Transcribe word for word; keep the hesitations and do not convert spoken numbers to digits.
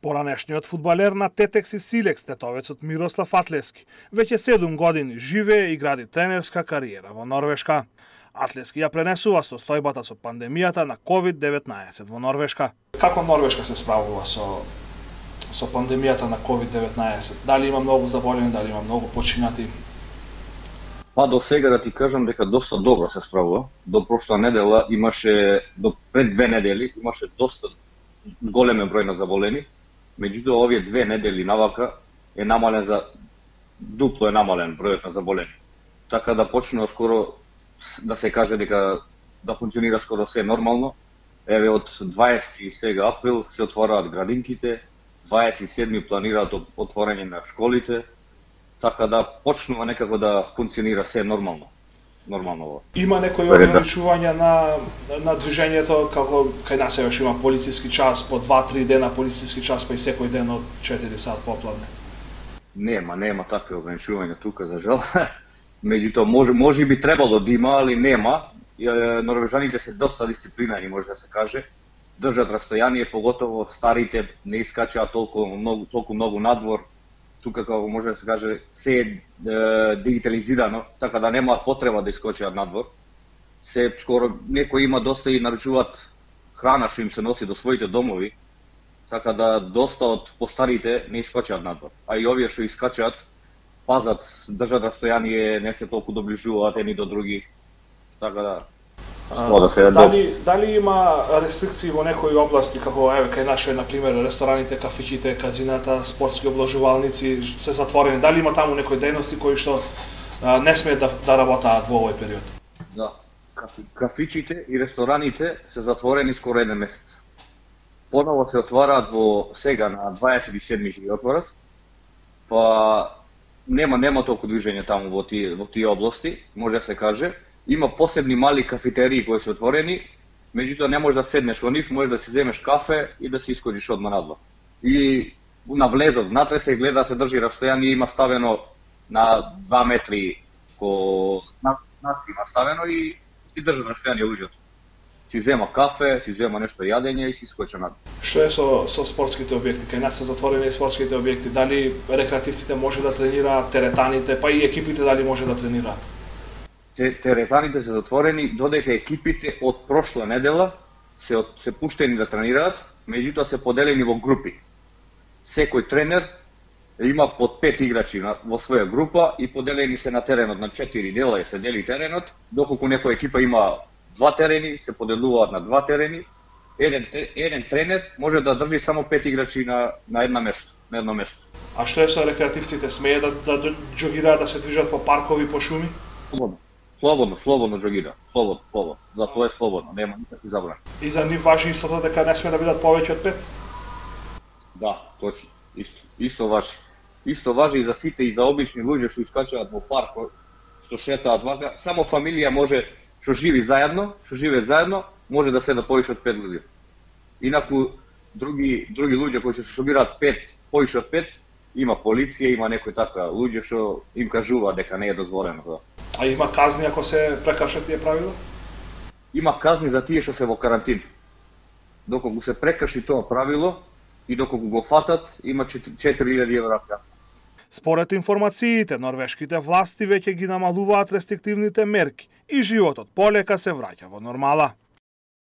Поранешниот фудбалер на Тетекс и Силекс, тетовецот Мирослав Атлески, веќе седум години живее и гради тренерска кариера во Норвешка. Атлески ја пренесува состојбата со пандемијата на ковид деветнаесет во Норвешка. Како Норвешка се справува со со пандемијата на ковид деветнаесет? Дали има многу заболени, дали има многу починати? Па до сега да ти кажам дека доста добро се справува. До прошла недела имаше, до пред две недели имаше доста големен број на заболени. Меѓутоа овие две недели навака е намален за дупло е намален бројот на заболени. Така да почнува скоро да се каже дека да функционира скоро се нормално. Еве од дваесети сега април се отвораат градинките, дваесет и седми планираат отворање на школите, така да почнува некако да функционира се нормално. Нормално. Има некои ограничувања на на движењето, како кај нас еве има полициски час по два-три дена полициски час, па и секој ден од четири сат попладне. Нема, нема такви ограничувања тука за жал. Меѓутоа може може би требало да има, али нема. Норвежаните се доста дисциплинирани, може да се каже. Држат растојание, поготово старите не искачаат толку многу толку многу надвор. Тука, како може да се каже, се е дигитализирано, така да нема потреба да искочат надвор. Се скоро некои има доста и наручуваат храна што им се носи до своите домови, така да доста од постарите не искочат надвор. А и овие што искачаат, пазат, држат растојание, не се толку доближуваат едни до други. Така да А, да дали, дали има рестрикции во некои области, како еве кај наше, на пример, рестораните, кафичите, казината, спортски облажувалници се затворени? Дали има таму некои дејности кои што а, не смеат да, да работаат во овој период? Да, кафи, кафичите и рестораните се затворени скоро еден месец. Поново се отвараат во сега на дваесет и седми ќе ги отворат. Па нема нема толку движење таму во тие во тие области, може да се каже. Има посебни мали кафетерии кои се отворени, меѓутоа не можеш да седнеш во нив, можеш да си земеш кафе и да си искоđиш одма надвор. И на влезот внатре се гледа, се држи растојание, има ставено на два метри ко на има ставено и си држат растојание луѓето. Си зема кафе, си зема нешто јадење и си искоча надвор. Што е со со спортските објекти? Кај нас се затворени и спортските објекти. Дали рекреативците може да тренираат, теретаните, па и екипите дали може да тренираат? Теретаните се затворени, додека екипите од прошла недела се, од, се пуштени да тренираат, меѓутоа се поделени во групи. Секој тренер има под пет играчи на, во своја група и поделени се на теренот на четири дела и се дели теренот, доколку некоја екипа има два терени, се поделуваат на два терени. Еден, еден тренер може да држи само пет играчи на, на една место, на едно место. А што е со рекреативците? Смее да, да џогираат, да се движат по паркови, по шуми? Слободно. Слободно, слободно џогира, слободно, слободно. За тоа е слободно, нема никакви забрани. И за нив важи истото дека не сме да бидат повеќе од пет? Да, точно, исто, исто важи. Исто важи и за сите и за обични луѓе што искачаат во парк, што шетаат вака, само фамилија може што живи заедно, што живеат заедно, може да седат повеќе од пет луѓе. Инаку други други луѓе кои се собираат пет, повеќе од пет, има полиција, има некои така луѓе што им кажува дека не е дозволено тоа. А има казни ако се прекршат тие правила? Има казни за тие што се во карантин. Доколку се прекрши тоа правило и доколку го фатат, има четири илјади евра казна. Според информациите, норвешките власти веќе ги намалуваат рестриктивните мерки и животот полека се враќа во нормала.